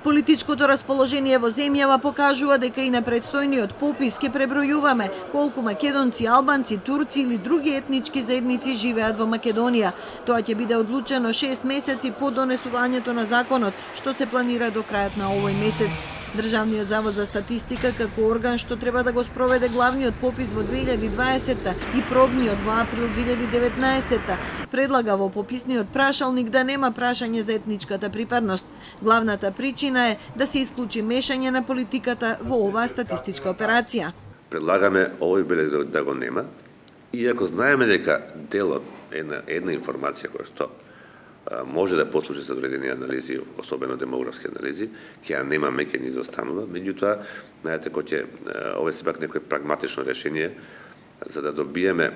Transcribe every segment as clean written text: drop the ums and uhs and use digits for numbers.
Политичкото расположение во земјава покажува дека и на предстојниот попис ќе пребројуваме колку македонци, албанци, турци или други етнички заедници живеат во Македонија. Тоа ќе биде одлучено 6 месеци по донесувањето на законот, што се планира до крајот на овој месец. Државниот завод за статистика како орган што треба да го спроведе главниот попис во 2020 и пробниот во април 2019 предлага во пописниот прашалник да нема прашање за етничката припадност. Главната причина е да се исклучи мешање на политиката во оваа статистичка операција. Предлагаме овој белег да го нема, иако знаеме дека делот една информација која што може да послужи за одредени анализи, особено демографски анализи, ќе ја немаме, ќе ни изостанува. Меѓутоа, знаете, ова е сепак некој прагматично решение за да добиеме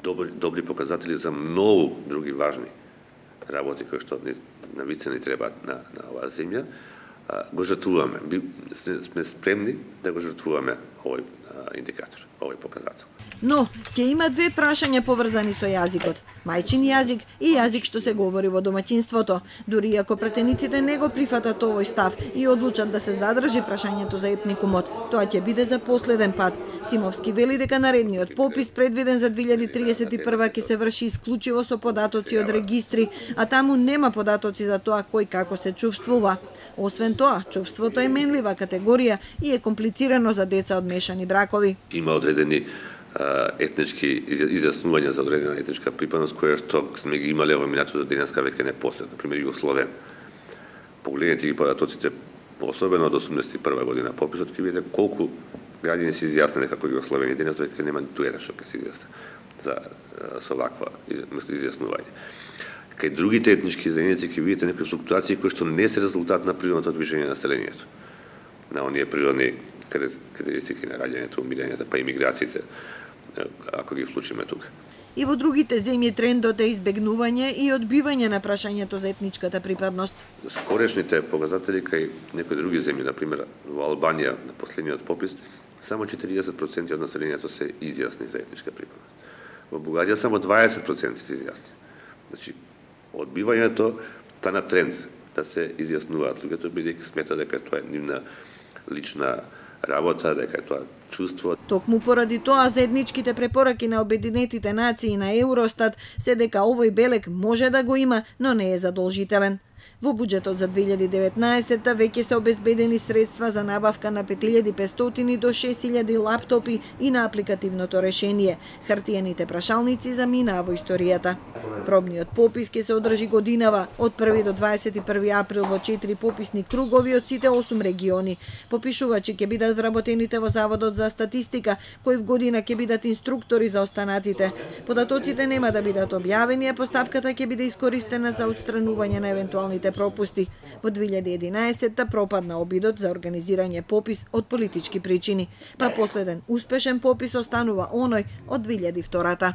добри показатели за многу други важни работи кои што на вистина ни требаат на оваа земја. Го жртвуваме. Сме спремни да го жртвуваме овој индикатор, овој показател. Но, ќе има две прашања поврзани со јазикот. Мајчин јазик и јазик што се говори во домаќинството. Дури ако пратениците не го прифатат овој став и одлучат да се задржи прашањето за етникумот, тоа ќе биде за последен пат. Симовски вели дека наредниот попис предвиден за 2031 ќе се врши исклучиво со податоци од регистри, а таму нема податоци за тоа кој како се чувствува. Освен тоа, чувството е менлива категорија и е комплицирано за деца од мешани бракови. Има одредени етнички изјаснувања за одредена етничка припадност која што сме ги имале во минатото денеска веќе не постои, например Југословен. Погледнете ги податоците, особено од 81 година пописот, ќе видите колку граѓани се изјасниле како Југословени, денес веќе нема ниту еден што ќе се изјасни со ваква изјаснување. Кај другите етнички заедници ќе видите некои флуктуации кои што не се резултат на природното движење на населението, на оние природни карактеристики на раѓањето, умирањето, па имиграциите, ако ги вклучиме тука. И во другите земји трендот е избегнување и одбивање на прашањето за етничката припадност. Скорешните показатели кај некои други земји, например во Албанија на последниот попис, само 40% од населението се изјасни за етничка припадност. Во Бугарија само 20% се изјасни. Значи, одбивањето стана тренд да се изјаснуваат луѓето, бидејќи смета дека тоа е нивна лична работа, дека тоа чувство. Токму поради тоа заедничките препораки на Обединетите нации и на Евростат се дека овој белег може да го има, но не е задолжителен. Во буџетот за 2019 веќе се обезбедени средства за набавка на 5500 до 6000 лаптопи и на апликативното решение. Хартиените прашалници заминаа во историјата. Пробниот попис ќе се одржи годинава од 1 до 21 април во 4 пописни кругови од сите 8 региони. Попишувачи ќе бидат вработените во Заводот за статистика, кои в година ќе бидат инструктори за останатите. Податоците нема да бидат објавени, а постапката ќе биде искористена за отстранување на евентуалните пропусти. Во 2011 пропадна обидот за организирање попис од политички причини, па последен успешен попис останува оној од 2002.